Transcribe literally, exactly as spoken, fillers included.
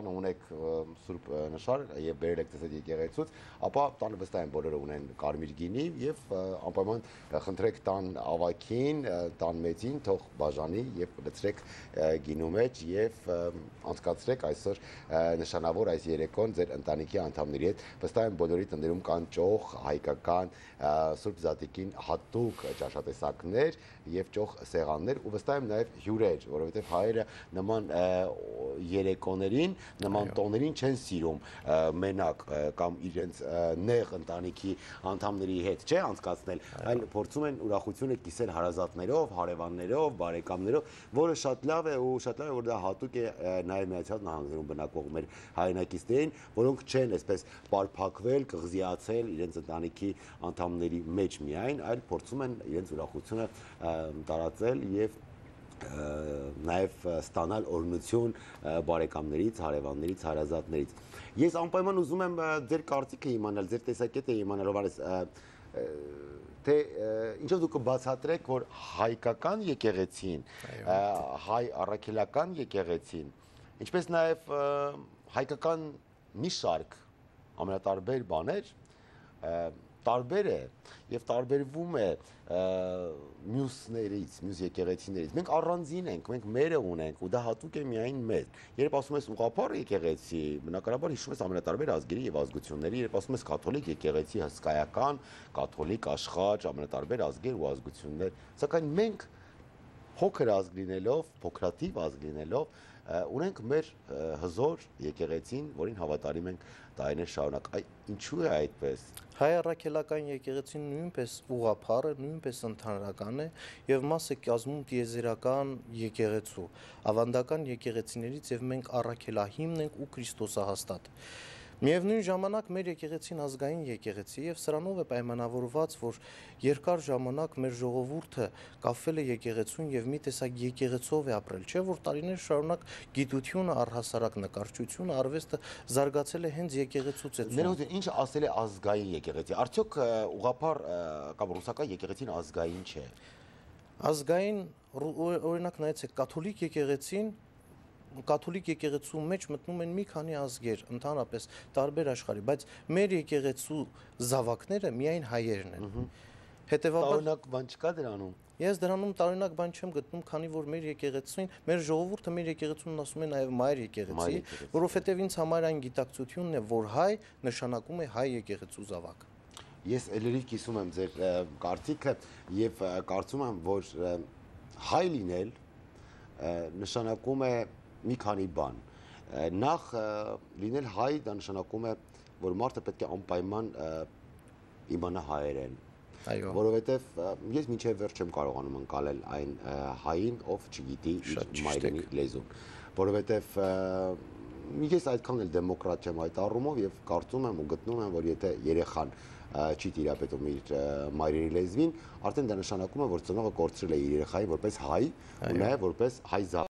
ունեք սուրբ նշար եւ բերել եք դες եկեղեցուց, ապա տանը վստահ եմ բոլորը ունեն կարմիր գինի եւ անպայման խնդրեք տան ավակին, տան մեծին թող բաժանի եւ լցրեք գինու մեջ եւ անցկացրեք այսօր նշանավոր այս երեկոն ձեր ընտանիքի անդամների հետ։ Վստահ եմ բոլորի տներում կան ճոխ, հայկական սուրբ զատիկին հատուկ ճաշատեսակներ եւ ճոխ սեղաններ ու վստահ եմ նաեւ հյուրեր, որովհետեւ հայերը նման երեկոներին նման տոներին չեն սիրում մենակ կամ իրենց նեղ ընտանիքի անդամների հետ չէ անցկացնել, այլ փորձում են ուրախությունը կիսել հարազատներով, հարևաններով, բարեկամներով, որը շատ լավ է ու շատ լավ է որ դա հատուկ է նաև Միացյալ Նահանգներում բնակվող մեր հայրենակիցներին, որոնք չեն այսպես պարփակվել, կղզիացել իրենց ընտանիքի անդամների մեջ միայն, այլ փորձում են իրենց ուրախությունը տարածել եւ նաև ստանալ օրհնություն բարեկամներից, հարևաններից, հարազատներից։ Ես անպայման ուզում եմ ձեր կարծիքը իմանալ, ձեր տեսակետը իմանալ, Հովհաննես, թե ինչով դուք կբացատրեք, որ հայկական եկեղեցին, հայ առաքելական եկեղեցին, ինչպես նաև հայկական մի շարք ամենատարբեր բաներ տարբեր է եւ տարբերվում է մյուսներից, մյուս եկեղեցիներից։ Մենք առանձին ենք, մենք մերը ունենք ու դա հատուկ է միայն մեզ։ Երբ ասում ես ուղղափառ եկեղեցի, բնականաբար հիշում ես ամենատարբեր ազգերի եւ ազգությունների, երբ ասում ես կաթոլիկ եկեղեցի, հսկայական, կաթոլիկ աշխարհ, ամենատարբեր ազգեր ու ազգություններ, սակայն մենք փոքր ազգ լինելով, փոքրաթիվ ազգ լինելով ունենք մեր հզոր եկեղեցին, որին հավատարիմ ենք տարիներ շարունակ։ Ինչու է այդպես։ Հայ առաքելական եկեղեցին նույնպես ուղղափառ է, նույնպես ընդհանրական է եւ մաս է կազմում տիեզերական եկեղեցու, ավանդական եկեղեցիներից եւ մենք առաքելահիմն ենք ու Քրիստոսահաստատ։ Միևնույն ժամանակ մեր եկեղեցին ազգային եկեղեցի եւ սրանով է պայմանավորված, որ երկար ժամանակ մեր ժողովուրդը կապվել է եկեղեցուն եւ մի տեսակ եկեղեցով է ապրել, չէ՞ որ տարիներ շարունակ գիտությունը, առհասարակ նկարչությունը, արվեստը զարգացել է հենց եկեղեցուց է։ Ներողություն, ինչ ասել է ազգային եկեղեցի։ Արդյոք ուղղափառ կամ ռուսական եկեղեցին ազգային չէ։ Ազգային օրինակ նայեցեք կաթոլիկ եկեղեցին Կաթոլիկ եկեղեցու մեջ մտնում են մի քանի ազգեր, ընդհանրապես տարբեր աշխարհի, բայց մեր եկեղեցու զավակները միայն հայերն են։ Հետևաբար տարօրինակ բան չկա դրանում։ Ես դրանում տարօրինակ բան չեմ գտնում, քանի որ մեր եկեղեցին, մեր ժողովուրդը մեր եկեղեցուն ասում է նաև մայր եկեղեցի, որովհետև ինձ համար այն գիտակցությունն է, որ հայ նշանակում է հայ եկեղեցու զավակ։ Ես ելերիվ կիսում եմ ձեր կարծիքը եւ կարծում եմ, որ հայ լինել նշանակում է մի քանի բան։ Նախ լինել հայ դա նշանակում է, որ մարդը պետք է անպայման իմանա հայերեն։ Այո։ Որովհետև ես մինչև վերջ չեմ կարողանում ընկալել այն հային, ով չգիտի իր մայրենի լեզուն։ Որովհետև ես այդքան էլ դեմոկրատ չեմ այդ առումով եւ կարծում եմ ու գտնում եմ, որ եթե երեխան չի տիրապետում իր մայրենի լեզվին, արդեն դա նշանակում է, որ ծնողը կորցրել է իր երեխային որպես հայ ու նաեւ որպես հայ